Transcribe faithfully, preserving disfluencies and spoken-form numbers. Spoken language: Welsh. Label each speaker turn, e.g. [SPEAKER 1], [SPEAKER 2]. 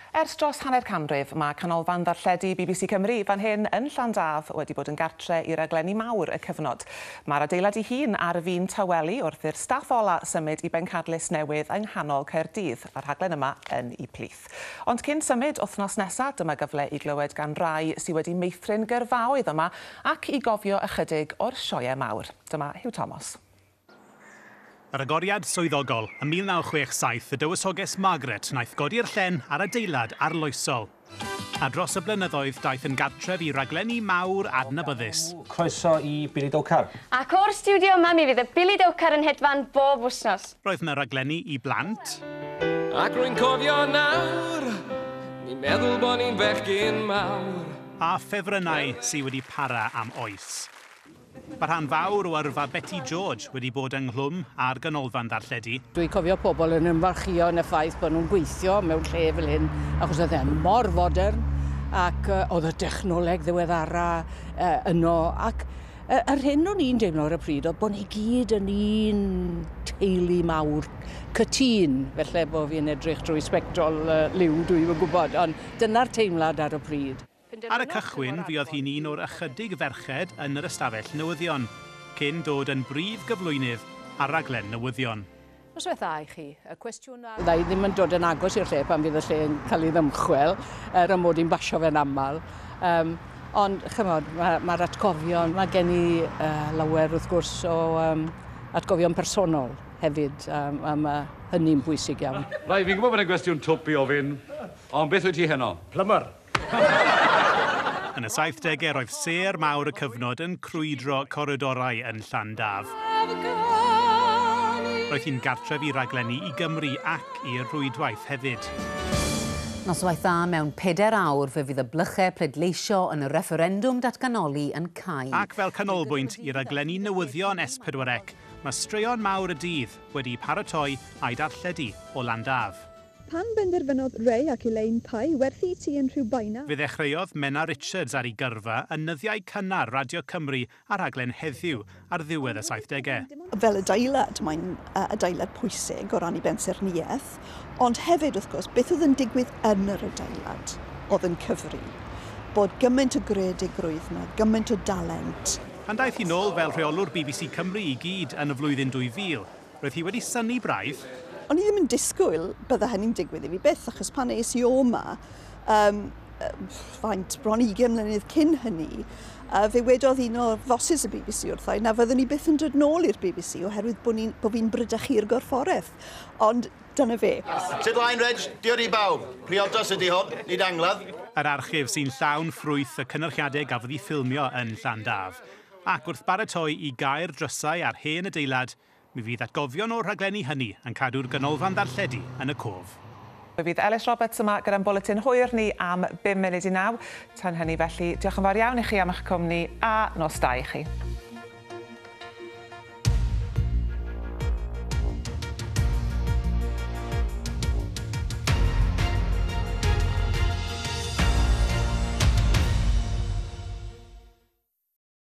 [SPEAKER 1] Ers dros hanner canrif, mae Canolfan Ddarlledu B B C Cymru fan hyn yn Llandaf wedi bod yn gartre i raglenni mawr y cyfnod. Mae'r adeilad ei hun ar fin tawelu wrth i'r staff ola symud i bencadlys newydd yng nghanol Caerdydd, a'r rhaglen yma yn ei plith. Ond cyn symud wythnos nesaf, dyma gyfle i glywed gan rai sydd wedi meithrin gyrfaoedd yma ac i gofio ychydig o'r sioeau mawr. Dyma Huw Thomas.
[SPEAKER 2] Yr agoriad swyddogol ym mil naw chwech saith, y Dywysoges Margaret wnaeth godi'r llen ar adeilad arloesol. A dros y blynyddoedd daeth yn gartref i raglenni mawr adnabyddus.
[SPEAKER 3] Croeso i Billy Dowcar.
[SPEAKER 4] Ac o'r stiwdio yma mi fydd y Billy Dowcar yn hedfan bob wythnos.
[SPEAKER 2] Roedd yna raglenni i blant.
[SPEAKER 5] Ac rwy'n cofio nawr, ni'n meddwl bod ni'n fechgyn mawr.
[SPEAKER 2] A ffefrynnau sydd wedi para am oes. Mae rhan fawr o yrfa Betty George wedi bod ynghlwm ar ganolfan ddarlledu.
[SPEAKER 6] Dwi'n cofio pobl yn ymfalchio yn y ffaith bod nhw'n gweithio mewn lle fel hyn, achos oedd e'n mor fodern ac uh, oedd y dechnoleg ddiweddara uh, yno. Ac uh, yr hyn o'n i'n deimlo ar y pryd oedd bod ni gyd yn un teulu mawr cytûn. Felly bod fi'n edrych drwy sbectol uh, liw, dwi'n gwybod, ond dyna'r teimlad ar y pryd.
[SPEAKER 2] Ar y cychwyn, fuodd hi'n un o'r ychydig ferched yn yr ystafell newyddion, cyn dod yn brif gyflwynydd ar raglen newyddion.
[SPEAKER 6] Noswaith dda i chi. Y cwestiwn ar... Fydda i ddim yn dod yn agos i'r lle pan fydd y lle yn cael ei ddymchwel, er y mod i'n basio fe'n aml. Um, ond, chymod, mae'r ma atgofion, mae gen i uh, lawer wrth gwrs o um, atgofion personol hefyd, um, a mae hynny'n bwysig iawn.
[SPEAKER 7] Rai, fi'n gwybod bod e'n gwestiwn twp i ofyn, ond beth wyt ti heno?
[SPEAKER 3] Plumber.
[SPEAKER 2] Yn y saithdegau roedd sêr mawr y cyfnod yn crwydro coridorau yn Llandaf. Roedd hi'n gartref i raglenni i Gymru ac i'r rhwydwaith hefyd.
[SPEAKER 8] Noswaith dda. Mewn pedair awr fe fydd y blychau pleidleisio yn y refferendwm datganoli yn cau.
[SPEAKER 2] Ac fel canolbwynt i raglenni newyddion S pedwar C, mae straeon mawr y dydd wedi paratoi a'i darlledu o Landaf.
[SPEAKER 9] Pan benderfynodd Ray ac Elaine Pye werthu tŷ yn Rhiwbeina,
[SPEAKER 2] Fe ddechreuodd Menna Richards ar ei gyrfa yn nyddiau cynnar Radio Cymru a rhaglen Heddiw ar ddiwedd y saithdegau.
[SPEAKER 9] Fel adeilad, mae'n uh, adeilad pwysig o ran ei bensaernïaeth, ond hefyd, wrth gwrs, beth oedd yn digwydd yn yr adeilad oedd yn cyfri. Bod gymaint o greadigrwydd yma, gymaint o dalent.
[SPEAKER 2] Pan daeth hi nôl fel rheolwr B B C Cymru i gyd yn y flwyddyn dwy fil, roedd hi wedi synnu braidd
[SPEAKER 9] O'n i ddim yn disgwyl bydde hynny'n digwydd i fi byth, achos pan es i o 'ma, um, faint, bron ugain mlynedd cyn hynny, uh, fe wedodd un o fosses y B B C wrtha i na fyddwn i byth yn dod nôl i'r B B C oherwydd bod, ni, bod fi'n bradychu'r gorfforaeth. Ond dyna fe.
[SPEAKER 10] Sut lain, Reg? Diolch i bawb. Priodas ydy hwn, nid angladd.
[SPEAKER 2] Yr archif sy'n llawn ffrwyth y cynyrchiadau gafodd ei ffilmio yn Llandaf. Ac wrth baratoi i gau'r drysau ar hen adeilad, mi fydd atgofion o'r rhaglenni hynny yn cadw'r ganolfan ddarlledu yn y cof.
[SPEAKER 1] Fe fydd Ellis Roberts yma gyda'n bwletin hwyr ni am bum munud i naw. Tan hynny felly, diolch yn fawr iawn i chi am eich cwmni a nos da i chi.